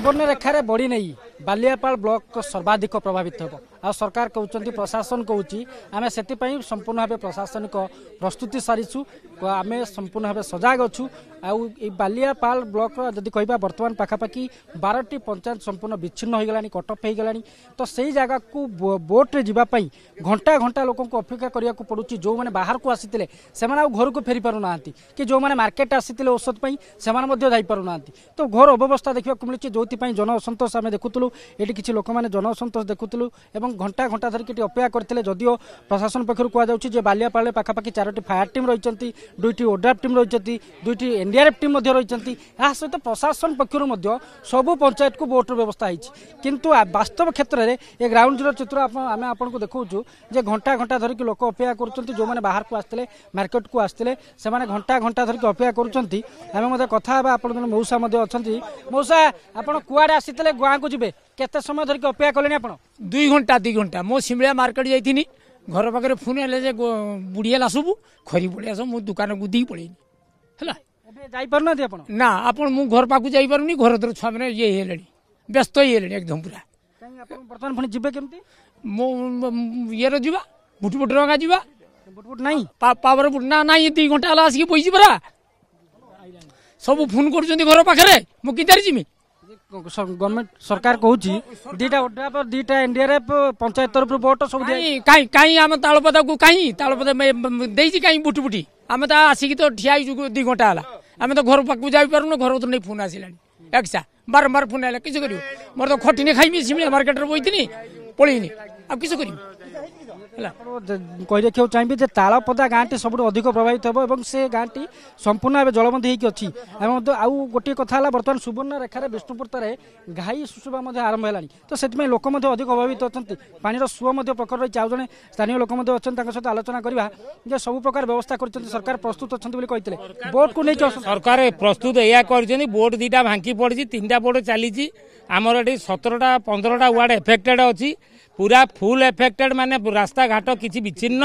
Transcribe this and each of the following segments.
ସୁବର୍ଣ୍ଣରେଖାରେ ବଢ଼ି ନେଇ ବାଲିଆପାଳ ବ୍ଲକ ସର୍ବାଧିକ ପ୍ରଭାବିତ ହେବ। ଆଉ ସରକାର କହୁଛନ୍ତି, ପ୍ରଶାସନ କହୁଛି, ଆମେ ସେଥିପାଇଁ ସମ୍ପୂର୍ଣ୍ଣ ଭାବେ ପ୍ରଶାସନିକ ପ୍ରସ୍ତୁତି ସାରିଛୁ, ଆମେ ସମ୍ପୂର୍ଣ୍ଣ ଭାବେ ସଜାଗ ଅଛୁ। ଆଉ ଏଇ ବାଲିଆପାଳ ବ୍ଲକର ଯଦି କହିବା, ବର୍ତ୍ତମାନ ପାଖାପାଖି 12ଟି ପଞ୍ଚାୟତ ସମ୍ପୂର୍ଣ୍ଣ ବିଚ୍ଛିନ୍ନ ହୋଇଗଲାଣି, କଟଅଫ୍ ହୋଇଗଲାଣି। ତ ସେଇ ଜାଗାକୁ ବୋଟ୍ରେ ଯିବା ପାଇଁ ଘଣ୍ଟା ଘଣ୍ଟା ଲୋକଙ୍କୁ ଅପେକ୍ଷା କରିବାକୁ ପଡ଼ୁଛି। ଯେଉଁମାନେ ବାହାରକୁ ଆସିଥିଲେ ସେମାନେ ଆଉ ଘରକୁ ଫେରି ପାରୁନାହାନ୍ତି, କି ଯେଉଁମାନେ ମାର୍କେଟ ଆସିଥିଲେ ଔଷଧ ପାଇଁ ସେମାନେ ମଧ୍ୟ ଯାଇପାରୁନାହାନ୍ତି। ତ ଘୋର ଅବ୍ୟବସ୍ଥା ଦେଖିବାକୁ ମିଳୁଛି, ଯେଉଁଥିପାଇଁ ଜନ ଅସନ୍ତୋଷ ଆମେ ଦେଖୁଥିଲୁ। ଏଠି କିଛି ଲୋକମାନେ ଜନ ଅସନ୍ତୋଷ ଦେଖୁଥିଲୁ ଏବଂ ଘଣ୍ଟା ଘଣ୍ଟା ଧରିକି ଏଠି ଅପେକ୍ଷା କରିଥିଲେ। ଯଦିଓ ପ୍ରଶାସନ ପକ୍ଷରୁ କୁହାଯାଉଛି ଯେ ବାଲିଆପାଳରେ ପାଖାପାଖି 4ଟି ଫାୟାର ଟିମ୍ ରହିଛନ୍ତି, 2ଟି ଓଡ୍ରାଫ୍ ଟିମ୍ ରହିଛନ୍ତି, 2ଟି ଏନ୍ଡିଆର୍ଏଫ୍ ଟିମ୍ ମଧ୍ୟ ରହିଛନ୍ତି। ଏହା ସହିତ ପ୍ରଶାସନ ପକ୍ଷରୁ ମଧ୍ୟ ସବୁ ପଞ୍ଚାୟତକୁ ବୋଟ୍ର ବ୍ୟବସ୍ଥା ହେଇଛି। କିନ୍ତୁ ବାସ୍ତବ କ୍ଷେତ୍ରରେ ଏ ଗ୍ରାଉଣ୍ଡ ଜିରୋ ଚିତ୍ର ଆମେ ଆପଣଙ୍କୁ ଦେଖାଉଛୁ ଯେ ଘଣ୍ଟା ଘଣ୍ଟା ଧରିକି ଲୋକ ଅପେକ୍ଷା କରୁଛନ୍ତି। ଯେଉଁମାନେ ବାହାରକୁ ଆସିଥିଲେ, ମାର୍କେଟକୁ ଆସିଥିଲେ, ସେମାନେ ଘଣ୍ଟା ଘଣ୍ଟା ଧରିକି ଅପେକ୍ଷା କରୁଛନ୍ତି। ଆମେ ମଧ୍ୟ କଥା ହେବା, ଆପଣ ଜଣେ ମଉସା ମଧ୍ୟ ଅଛନ୍ତି। ମଉସା, ଆପଣ କୁଆଡ଼େ ଆସିଥିଲେ, ଗାଁକୁ ଯିବେ, କେତେ ସମୟ ଧରିକି ଅପେକ୍ଷା କଲେଣି ଆପଣ? 2 ଘଣ୍ଟା, 2 ଘଣ୍ଟା। ମୁଁ ସିମିଳିଆ ମାର୍କେଟ ଯାଇଥିନି, ଘର ପାଖରେ ଫୋନ୍ ହେଲେ ଯେ ବୁଡ଼ିଗଲା ସବୁ, ଖରି ପଡ଼ିଆ ସବୁ। ମୁଁ ଦୋକାନକୁ ଦେଇକି ପଳେଇନି ହେଲା। ଏବେ ଯାଇପାରୁନାହାନ୍ତି ଆପଣ? ନା ଆପଣ, ମୁଁ ଘର ପାଖକୁ ଯାଇପାରୁନି। ଘର ଦ୍ୱାର ଛୁଆମାନେ ଇଏ ହେଇଗଲେଣି, ବ୍ୟସ୍ତ ହେଇଗଲେଣି ଏକଦମ ପୁରା। ଆପଣ ବର୍ତ୍ତମାନ ପୁଣି ଯିବେ କେମିତି? ମୁଁ ଇଏର ଯିବା, ବୁଟୁ ବୁଟୁ ରଙ୍ଗା ଯିବା। ବୁଟ ବୁଟ ନାହିଁ, ପାୱାର ବୁଟ ନା ନାଇଁ। 2 ଘଣ୍ଟା ହେଲା ଆସିକି ବଇଛି ପରା। ସବୁ ଫୋନ୍ କରୁଛନ୍ତି ଘର ପାଖରେ, ମୁଁ କିଦାରି ଯିମି? ଗଭର୍ଣ୍ଣମେଣ୍ଟ ସରକାର କହୁଛି 2ଟା ଓଡ୍ରାଫ, 2ଟା ଏନଡିଆରଏଫ, ପଞ୍ଚାୟତ ତରଫରୁ ବୋଟ ସବୁ। କାଇଁ କାଇଁ ଆମ ତାଳପଦାକୁ କାହିଁ ତାଳପଦା ଦେଇଛି? କାହିଁ ବୁଟି ବୁଟି? ଆମେ ତ ଆସିକି ତ ଠିଆ ହେଇଛୁ 2 ଘଣ୍ଟା ହେଲା। ଆମେ ତ ଘର ପାଖକୁ ଯାଇପାରୁନୁ। ଘର ନେଇ ଫୋନ୍ ଆସିଲାଣି ଏକ୍ସା, ବାରମ୍ବାର ଫୋନ୍ ଆଇଲା। କିଛି କରିବୁ? ମୋର ତ ଖଟିନି ଖାଇବି। ସିମିଳିଆ ମାର୍କେଟରେ ବଇଥିନି, ପଳେଇନି, ଆଉ କିଛି କରିବି? ହେଲା, କହି ରଖିବାକୁ ଚାହିଁବି ଯେ ତାଳପଦା ଗାଁଟି ସବୁଠୁ ଅଧିକ ପ୍ରଭାବିତ ହେବ ଏବଂ ସେ ଗାଁଟି ସମ୍ପୂର୍ଣ୍ଣ ଭାବେ ଜଳବନ୍ଦୀ ହେଇକି ଅଛି। ଏବଂ ଆଉ ଗୋଟିଏ କଥା ହେଲା, ବର୍ତ୍ତମାନ ସୁବର୍ଣ୍ଣରେଖାରେ ବିଷ୍ଣୁପୁର ଘାଇ ଶୁଶୁବା ମଧ୍ୟ ଆରମ୍ଭ ହେଲାଣି, ତ ସେଥିପାଇଁ ଲୋକ ମଧ୍ୟ ଅଧିକ ପ୍ରଭାବିତ ଅଛନ୍ତି। ପାଣିର ସୁଅ ମଧ୍ୟ ପ୍ରଖର ରହିଛି। ଆଉ ଜଣେ ସ୍ଥାନୀୟ ଲୋକ ମଧ୍ୟ ଅଛନ୍ତି, ତାଙ୍କ ସହିତ ଆଲୋଚନା କରିବା ଯେ ସବୁ ପ୍ରକାର ବ୍ୟବସ୍ଥା କରିଛନ୍ତି ସରକାର, ପ୍ରସ୍ତୁତ ଅଛନ୍ତି ବୋଲି କହିଥିଲେ, ବୋଟକୁ ନେଇକି ସରକାର ପ୍ରସ୍ତୁତ ଏଇଆ କରିଛନ୍ତି। ବୋଟ 2ଟା ଭାଙ୍ଗି ପଡ଼ିଛି, 3ଟା ବୋଟ ଚାଲିଛି। ଆମର ଏଠି 17ଟା 15ଟା ୱାର୍ଡ ଏଫେକ୍ଟେଡ୍ ଅଛି, ପୁରା ଫୁଲ୍ ଏଫେକ୍ଟେଡ୍, ମାନେ ରାସ୍ତାଘାଟ କିଛି ବିଚ୍ଛିନ୍ନ।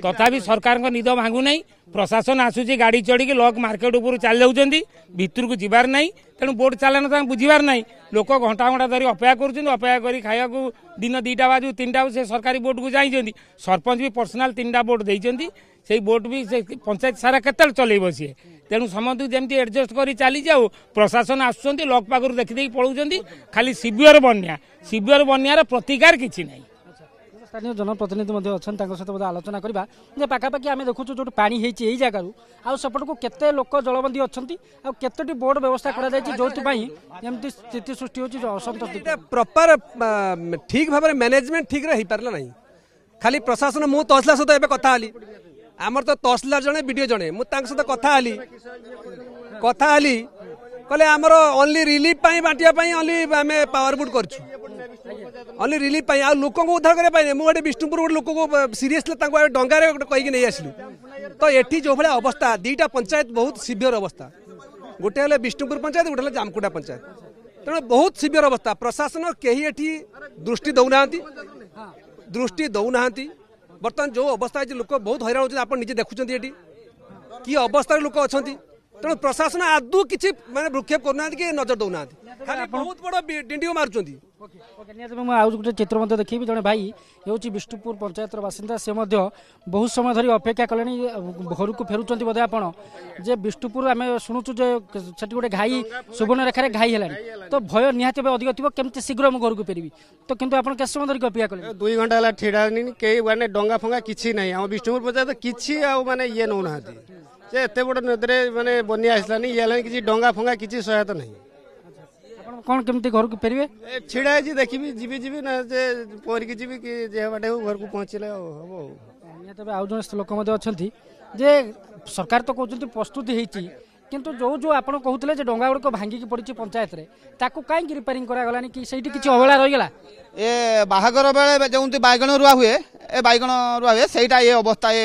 ତଥାପି ସରକାରଙ୍କ ନିଦ ଭାଙ୍ଗୁନାହିଁ। ପ୍ରଶାସନ ଆସୁଛି, ଗାଡ଼ି ଚଢ଼ିକି ଲକ୍ ମାର୍କେଟ ଉପରୁ ଚାଲି ଯାଉଛନ୍ତି, ଭିତରକୁ ଯିବାର ନାହିଁ। ତେଣୁ ବୋଟ ଚାଲାଣ ତାଙ୍କୁ ବୁଝିବାର ନାହିଁ। ଲୋକ ଘଣ୍ଟା ଘଣ୍ଟା ଧରି ଅପେକ୍ଷା କରୁଛନ୍ତି। ଅପେକ୍ଷା କରି ଖାଇବାକୁ ଦିନ 2ଟା ବାଜୁ, 3ଟା, ସେ ସରକାରୀ ବୋଟକୁ ଯାଇଛନ୍ତି। ସରପଞ୍ଚ ବି ପର୍ସନାଲ 3ଟା ବୋଟ ଦେଇଛନ୍ତି। ସେଇ ବୋଟ ବି ସେ ପଞ୍ଚାୟତ ସାରା କେତେବେଳେ ଚଲେଇବ ସିଏ? ତେଣୁ ସମସ୍ତଙ୍କୁ ଯେମିତି ଆଡଜଷ୍ଟ କରି ଚାଲିଛି। ଆଉ ପ୍ରଶାସନ ଆସୁଛନ୍ତି, ଲକ୍ ପାଖରୁ ଦେଖିଦେଇକି ପଳାଉଛନ୍ତି। ଖାଲି ସିଭିଅର ବନ୍ୟା, ସିଭିଅର ବନ୍ୟାର ପ୍ରତିକାର କିଛି ନାହିଁ। ସ୍ଥାନୀୟ ଜନପ୍ରତିନିଧି ମଧ୍ୟ ଅଛନ୍ତି, ତାଙ୍କ ସହିତ ମଧ୍ୟ ଆଲୋଚନା କରିବା ଯେ ପାଖାପାଖି ଆମେ ଦେଖୁଛୁ ଯେଉଁଠି ପାଣି ହେଇଛି ଏଇ ଜାଗାରୁ ଆଉ ସେପଟକୁ କେତେ ଲୋକ ଜଳବନ୍ଦୀ ଅଛନ୍ତି, ଆଉ କେତୋଟି ବୋର୍ଡ ବ୍ୟବସ୍ଥା କରାଯାଇଛି, ଯେଉଁଥିପାଇଁ ଏମିତି ସ୍ଥିତି ସୃଷ୍ଟି ହେଉଛି ଅସନ୍ତୋଷ। ପ୍ରପର ଠିକ୍ ଭାବରେ ମ୍ୟାନେଜମେଣ୍ଟ ଠିକ୍ରେ ହେଇପାରିଲା ନାହିଁ। ଖାଲି ପ୍ରଶାସନ, ମୁଁ ତହସିଲଦାର ସହିତ ଏବେ କଥା ହେଲି। ଆମର ତ ତହସିଲଦାର ଜଣେ, ବିଡ଼ିଓ ଜଣେ, ମୁଁ ତାଙ୍କ ସହିତ କଥା ହେଲି, କହିଲେ ଆମର ଓନ୍ଲି ରିଲିଫ୍ ପାଇଁ ବାଣ୍ଟିବା ପାଇଁ ଓନ୍ଲି ଆମେ ପାୱାର ବୁଟ୍ କରିଛୁ, ଓନ୍ଲି ରିଲିଫ୍ ପାଇଁ, ଆଉ ଲୋକଙ୍କୁ ଉଦ୍ଧାର କରିବା ପାଇଁ। ମୁଁ ଗୋଟେ ବିଷ୍ଣୁପୁର ଗୋଟେ ଲୋକକୁ ସିରିୟସଲି ତାଙ୍କୁ ଡଙ୍ଗାରେ ଗୋଟେ କହିକି ନେଇ ଆସିଲୁ। ତ ଏଠି ଯେଉଁ ଭଳିଆ ଅବସ୍ଥା, 2ଟା ପଞ୍ଚାୟତ ବହୁତ ସିଭିୟର ଅବସ୍ଥା। ଗୋଟେ ହେଲେ ବିଷ୍ଣୁପୁର ପଞ୍ଚାୟତ, ଗୋଟେ ହେଲେ ଜାମକୁଟା ପଞ୍ଚାୟତ। ତେଣୁ ବହୁତ ସିଭିୟର ଅବସ୍ଥା। ପ୍ରଶାସନ କେହି ଏଠି ଦୃଷ୍ଟି ଦେଉନାହାନ୍ତି, ଦୃଷ୍ଟି ଦେଉନାହାନ୍ତି। ବର୍ତ୍ତମାନ ଯେଉଁ ଅବସ୍ଥା ହେଇଛି, ଲୋକ ବହୁତ ହଇରାଣ ହେଉଛନ୍ତି। ଆପଣ ନିଜେ ଦେଖୁଛନ୍ତି ଏଠି କି ଅବସ୍ଥାରେ ଲୋକ ଅଛନ୍ତି। ତେଣୁ ପ୍ରଶାସନ ଆଦୌ କିଛି ମାନେ ଭୃକ୍ଷେପ କରୁନାହାନ୍ତି କି ନଜର ଦେଉନାହାନ୍ତି, ଖାଲି ବହୁତ ବଡ଼ ଡିଣ୍ଡିଓ ମାରୁଛନ୍ତି। ନିହାତି ମୁଁ ଆଉ ଗୋଟେ ଚିତ୍ର ମଧ୍ୟ ଦେଖିବି। ଜଣେ ଭାଇ ହେଉଛି ବିଷ୍ଣୁପୁର ପଞ୍ଚାୟତର ବାସିନ୍ଦା, ସେ ମଧ୍ୟ ବହୁତ ସମୟ ଧରି ଅପେକ୍ଷା କଲେଣି, ଘରକୁ ଫେରୁଛନ୍ତି ବୋଧେ ଆପଣ। ଯେ ବିଷ୍ଣୁପୁର ଆମେ ଶୁଣୁଛୁ ଯେ ସେଠି ଗୋଟେ ଘାଇ, ସୁବର୍ଣ୍ଣରେଖାରେ ଘାଇ ହେଲାଣି, ତ ଭୟ ନିହାତି ଭାବେ ଅଧିକ ଥିବ, କେମିତି ଶୀଘ୍ର ମୁଁ ଘରକୁ ଫେରିବି। ତ କିନ୍ତୁ ଆପଣ କେତେ ସମୟ ଧରିକି ଅପେକ୍ଷା କଲେ? 2 ଘଣ୍ଟା ହେଲା ଛିଡ଼ା ହେଲିଣି। କେହି ମାନେ ଡଙ୍ଗା ଫଙ୍ଗା କିଛି ନାହିଁ। ଆମ ବିଷ୍ଣୁପୁର ପଞ୍ଚାୟତ କିଛି ଆଉ ମାନେ ଇଏ ନେଉନାହାନ୍ତି ଯେ ଏତେ ବଡ଼ ନଦୀରେ ମାନେ ବନ୍ୟା ଆସିଲାନି, ଇଏ ହେଲାନି, କିଛି ଡଙ୍ଗା ଫଙ୍ଗା କିଛି ସହାୟତା ନାହିଁ। ଆପଣ କ'ଣ କେମିତି ଘରକୁ ଫେରିବେ? ଛିଡ଼ା ହେଇଛି, ଦେଖିବି, ଯିବି ଯିବି ନା ଯେ ପହଁରିକି ଯିବି କି ଯେ ବାଟେ ହଉ, ଘରକୁ ପହଞ୍ଚିଲେ ଆଉ ହବ। ଆଉ ନିହାତି ଭାବେ ଆଉ ଜଣେ ଲୋକ ମଧ୍ୟ ଅଛନ୍ତି ଯେ ସରକାର ତ କହୁଛନ୍ତି ପ୍ରସ୍ତୁତି ହେଇଛି, କିନ୍ତୁ ଯେଉଁ ଯେଉଁ ଆପଣ କହୁଥିଲେ ଯେ ଡଙ୍ଗା ଗୁଡ଼ିକ ଭାଙ୍ଗିକି ପଡ଼ିଛି ପଞ୍ଚାୟତରେ, ତାକୁ କାହିଁକି ରିପେୟାରିଂ କରାଗଲାନି, କି ସେଇଠି କିଛି ଅବହେଳା ରହିଗଲା? ଏ ବାହାଘର ବେଳେ ଯେଉଁଠି ବାଇଗଣ ରୁଆ ହୁଏ, ଏ ବାଇଗଣ ରୁଆ ହୁଏ, ସେଇଟା ଏ ଅବସ୍ଥା। ଏ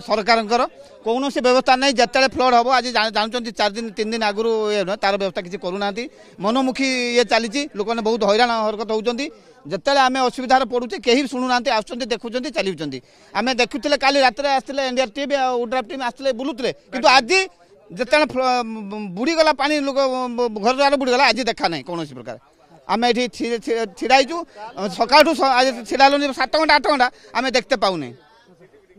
ସରକାରଙ୍କର କୌଣସି ବ୍ୟବସ୍ଥା ନାହିଁ। ଯେତେବେଳେ ଫ୍ଲଡ୍ ହେବ, ଆଜି ଜାଣୁଛନ୍ତି, 4 ଦିନ 3 ଦିନ ଆଗରୁ ଇଏ ନୁହେଁ, ତାର ବ୍ୟବସ୍ଥା କିଛି କରୁନାହାନ୍ତି। ମନମୁଖୀ ଇଏ ଚାଲିଛି। ଲୋକମାନେ ବହୁତ ହଇରାଣ ହରକତ ହେଉଛନ୍ତି। ଯେତେବେଳେ ଆମେ ଅସୁବିଧାରେ ପଡ଼ୁଛେ, କେହି ଶୁଣୁନାହାନ୍ତି। ଆସୁଛନ୍ତି, ଦେଖୁଛନ୍ତି, ଚାଲିଛନ୍ତି। ଆମେ ଦେଖୁଥିଲେ, କାଲି ରାତିରେ ଆସିଥିଲେ ଏନ୍ଡିଆର୍ ଟିମ୍ ଆଉ ଓଡ୍ରାଫ୍ ଟିମ୍ ଆସିଥିଲେ, ବୁଲୁଥିଲେ। କିନ୍ତୁ ଆଜି ଯେତେବେଳେ ବୁଡ଼ିଗଲା ପାଣି, ଲୋକ ଘର ଦ୍ୱାର ବୁଡ଼ିଗଲା, ଆଜି ଦେଖା ନାହିଁ କୌଣସି ପ୍ରକାର। ଆମେ ଏଠି ଛିଡ଼ା ହେଇଛୁ ସକାଳଠୁ, ଛିଡ଼ା ହେଲୁଣି 7 ଘଣ୍ଟା 8 ଘଣ୍ଟା, ଆମେ ଦେଖିତେ ପାଉନି।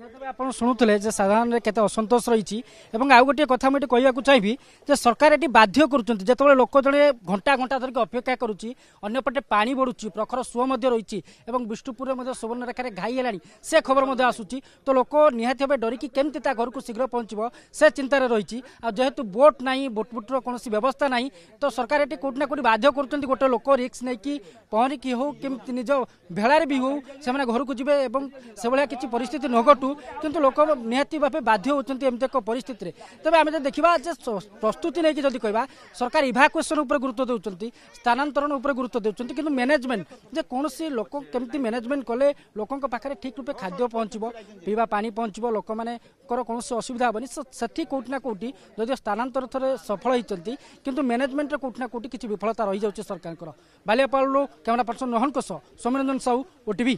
ତେବେ ଆପଣ ଶୁଣୁଥିଲେ ଯେ ସାଧାରଣରେ କେତେ ଅସନ୍ତୋଷ ରହିଛି। ଏବଂ ଆଉ ଗୋଟିଏ କଥା ମୁଁ ଏଠି କହିବାକୁ ଚାହିଁବି ଯେ ସରକାର ଏଠି ବାଧ୍ୟ କରୁଛନ୍ତି, ଯେତେବେଳେ ଲୋକ ଜଣେ ଘଣ୍ଟା ଘଣ୍ଟା ଧରିକି ଅପେକ୍ଷା କରୁଛି, ଅନ୍ୟପଟେ ପାଣି ବଢ଼ୁଛି, ପ୍ରଖର ସୁଅ ମଧ୍ୟ ରହିଛି ଏବଂ ବିଷ୍ଣୁପୁରରେ ମଧ୍ୟ ସୁବର୍ଣ୍ଣରେଖାରେ ଘାଇ ହେଲାଣି, ସେ ଖବର ମଧ୍ୟ ଆସୁଛି, ତ ଲୋକ ନିହାତି ଭାବେ ଡରିକି କେମିତି ତା ଘରକୁ ଶୀଘ୍ର ପହଞ୍ଚିବ ସେ ଚିନ୍ତାରେ ରହିଛି। ଆଉ ଯେହେତୁ ବୋଟ୍ ନାହିଁ, ବୋଟ୍ ବୁଟ୍ର କୌଣସି ବ୍ୟବସ୍ଥା ନାହିଁ, ତ ସରକାର ଏଠି କେଉଁଠି ନା କେଉଁଠି ବାଧ୍ୟ କରୁଛନ୍ତି ଗୋଟେ ଲୋକ ରିସ୍କ ନେଇକି ପହଁରିକି ହଉ କେମିତି ନିଜ ଭେଳାରେ ବି ହଉ ସେମାନେ ଘରକୁ ଯିବେ ଏବଂ ସେଭଳିଆ କିଛି ପରିସ୍ଥିତି ନ ଘଟୁ, କିନ୍ତୁ ଲୋକ ନିହାତି ଭାବେ ବାଧ୍ୟ ହେଉଛନ୍ତି ଏମିତି ଏକ ପରିସ୍ଥିତିରେ। ତେବେ ଆମେ ଯଦି ଦେଖିବା ଯେ ପ୍ରସ୍ତୁତି ନେଇକି ଯଦି କହିବା, ସରକାର ଇଭାକୁଏସନ୍ ଉପରେ ଗୁରୁତ୍ୱ ଦେଉଛନ୍ତି, ସ୍ଥାନାନ୍ତରଣ ଉପରେ ଗୁରୁତ୍ୱ ଦେଉଛନ୍ତି, କିନ୍ତୁ ମ୍ୟାନେଜମେଣ୍ଟ ଯେ କୌଣସି ଲୋକ କେମିତି ମ୍ୟାନେଜମେଣ୍ଟ କଲେ ଲୋକଙ୍କ ପାଖରେ ଠିକ୍ ରୂପେ ଖାଦ୍ୟ ପହଞ୍ଚିବ, ପିଇବା ପାଣି ପହଞ୍ଚିବ, ଲୋକମାନଙ୍କର କୌଣସି ଅସୁବିଧା ହେବନି, ସେଠି କେଉଁଠି ନା କେଉଁଠି ଯଦିଓ ସ୍ଥାନାନ୍ତର ଥରେ ସଫଳ ହୋଇଛନ୍ତି, କିନ୍ତୁ ମ୍ୟାନେଜମେଣ୍ଟରେ କେଉଁଠି ନା କେଉଁଠି କିଛି ବିଫଳତା ରହିଯାଉଛି ସରକାରଙ୍କର। ବାଲିଆପାଳରୁ କ୍ୟାମେରା ପର୍ସନ ରୋହନଙ୍କ ସହ ସୌମ୍ୟରଞ୍ଜନ ସାହୁ, ଓଟିଭି।